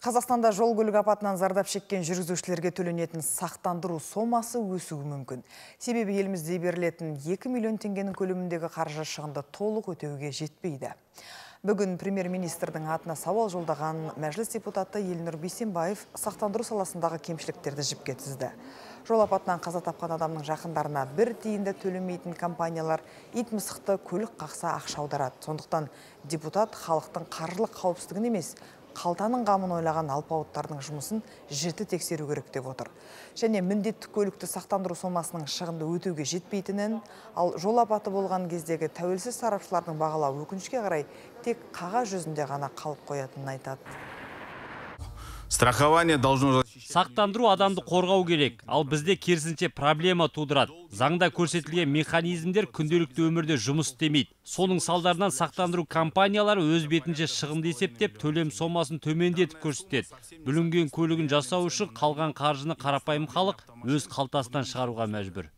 Қазақстанда жол көлік апатынан зардап шеккен жүргізушілерге төленетін сақтандыру сомасы өсуі мүмкін. Себебі елімізде берілетін 2 миллион теңгенің көлеміндегі қаржы шығынды толық өтеуге жетпейді. Бүгін премьер-министрдің атына сауал жолдаған мәжіліс депутаты Елнұр Бейсенбаев сақтандыру саласындағы кемшіліктерді жіпке тізді. Жол апатынан қаза тапқан адамның жақындарына бір тиынды төлемейтін компаниялар ит мысықты көлік қақса ақша аударады. Сондықтан депутат халықтың қаржылық қауіпсіздігін емес, қалтаның қамын ойлаған алпауыттардың жұмысын жіті тексеру керек деп отыр. Және міндетті көлікті сақтандыру сомасының шығынды өтеуге жетпейтінін, ал жол апаты болған кездегі тәуелсіз сарапшылардың бағалауы өкінішке қарай тек қағаз жүзінде ғана қалып қоятынын айтады. Страхование должно... Сақтандыру адамды қорғау керек, ал бізде керісінше проблема тудырады. Заңда көрсетілген механизмдер күнделікті өмірде жұмыс істемейді. Соның салдарынан сақтандыру компаниялары өз бетінше шығынды есептеп, төлем сомасын төмендетіп көрсетеді. Бүлінген көлігін жасау үшін қалған қаржыны қарапайым халық өз қалтасынан шығаруға мәжбүр.